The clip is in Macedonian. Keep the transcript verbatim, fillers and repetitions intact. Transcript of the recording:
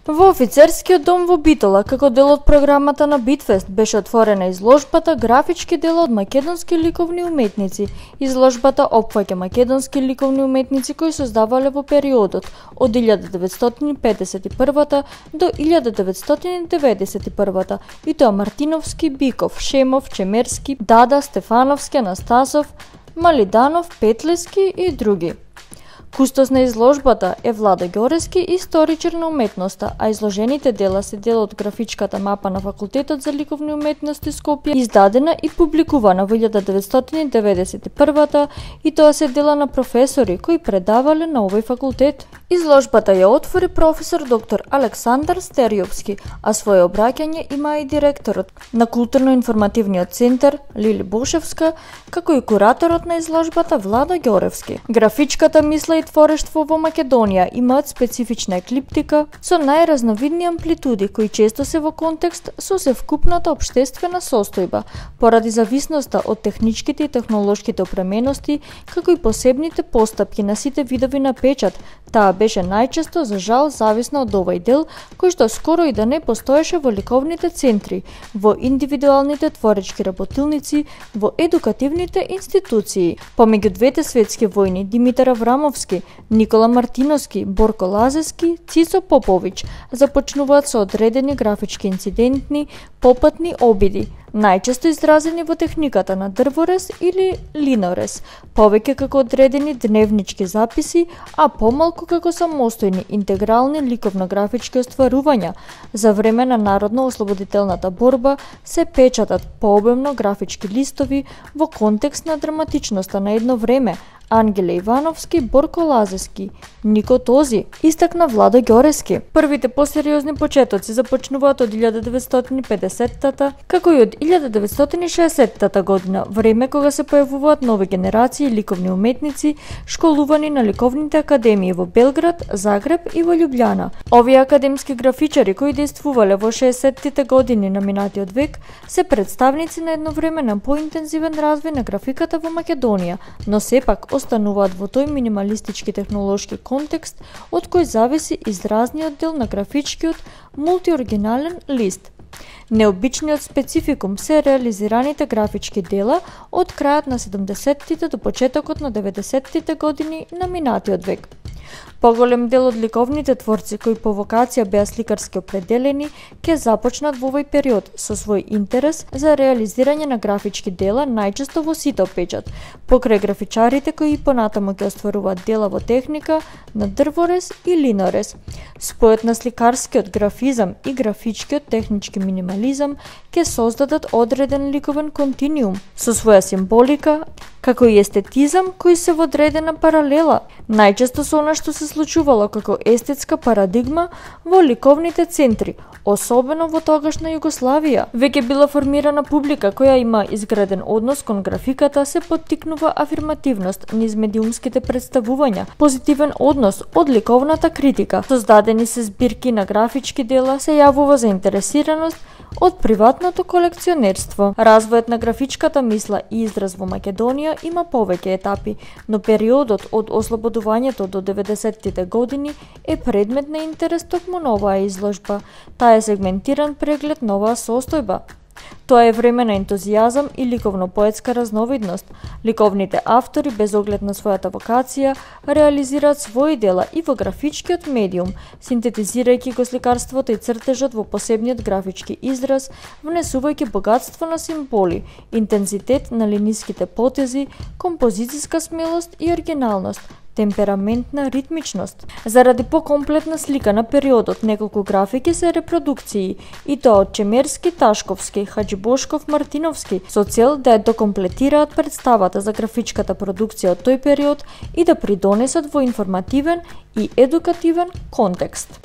Во Офицерскиот дом во Битола, како дел од програмата на Битфест, беше отворена изложбата Графички дела од македонски ликовни уметници. Изложбата опфаќа македонски ликовни уметници кои создавале во периодот од илјада деветстотини педесет и прва до илјада деветстотини деветдесет и прва, и тоа Мартиновски, Биков, Шемов, Чемерски, Дада, Стефановски, Анастасов, Малиданов, Петлески и други. Кустос на изложбата е Владо Ѓорески, историчар на уметноста, а изложените дела се дел од графичката мапа на Факултетот за ликовни уметности Скопје, издадена и публикувана во илјада деветстотини деветдесет и прва, и тоа се дела на професори кои предавале на овој факултет. Изложбата ја отвори професор доктор Александар Стериовски, а свое обраќање има и директорот на културно-информативниот центар Лили Бошевска, како и кураторот на изложбата Владо Ѓоревски. Графичката мисла и творештво во Македонија имаат специфична еклиптика со најразновидни амплитуди кои често се во контекст со севкупната општествена состојба, поради зависноста од техничките и технолошките опремености, како и посебните постапки на сите видови на печат. Таа беше најчесто, за жал, зависна од овој дел, кој што скоро и да не постоеше во ликовните центри, во индивидуалните творечки работилници, во едукативните институции. Помеѓу двете светски војни, Димитар Аврамовски, Никола Мартиновски, Борко Лазески, Цицо Поповиќ започнуваат со одредени графички инцидентни, попатни обиди, најчесто изразени во техниката на дрворез или линорез, повеќе како одредени дневнички записи, а помалку како самостојни интегрални ликовно-графички остварувања. За време на народно-ослободителната борба се печатат пообемно графички листови во контекст на драматичноста на едно време. Ангеле Ивановски, Борко Лазески, Нико Този, истакна Владо Ѓорески. Првите посериозни почетоци започнуваат од илјада деветстотини и педесеттата, како и од илјада деветстотини и шеесеттата година, време кога се појавуваат нови генерации ликовни уметници, школувани на ликовните академии во Белград, Загреб и во Љубљана. Овие академски графичари кои действувале во шеесеттите години на минатиот век се представници на едновременен поинтензивен развој на графиката во Македонија, но сепак остануваат во тој минималистички технолошки контекст од кој зависи изразниот дел на графичкиот мултиоригинален лист. Необичниот спецификум се реализираните графички дела од крајот на седумдесеттите до почетокот на деветдесеттите години на минатиот век. Поголем дел од ликовните творци кои по вокација беа сликарски определени ќе започнат во овој период со свој интерес за реализирање на графички дела, најчесто во сито печат, покрај графичарите кои понатаму ќе остваруваат дела во техника на дрворез и линорез. Спојот на сликарскиот графизам и графичкиот технички минимализам ќе создадат одреден ликовен континуум со своја символика, како и естетизам кои се во одредена паралела, најчесто со она што се случувало како естетска парадигма во ликовните центри, особено во тогашна Југославија. Веќе била формирана публика која има изграден однос кон графиката, се поттикнува афирмативност низ медиумските представувања, позитивен однос од ликовната критика. Создадени се збирки на графички дела, се јавува заинтересираност од приватното колекционерство. Развојот на графичката мисла и израз во Македонија има повеќе етапи, но периодот од ослободувањето до деветдесеттите години е предмет на интерес токму на оваа изложба. Таа е сегментиран преглед на оваа состојба. Тоа е време на ентузијазам и ликовно-поетска разновидност. Ликовните автори, без оглед на својата вокација, реализираат своји дела и во графичкиот медиум, синтетизирајќи го сликарството и цртежот во посебниот графички израз, внесувајќи богатство на символи, интензитет на линиските потези, композициска смелост и оригиналност, темпераментна ритмичност. Заради покомплетна слика на периодот, неколку графики се репродукции, и тоа од Чемерски, Ташковски, Хаџибошков, Мартиновски, со цел да ја докомплетираат представата за графичката продукција од тој период и да придонесат во информативен и едукативен контекст.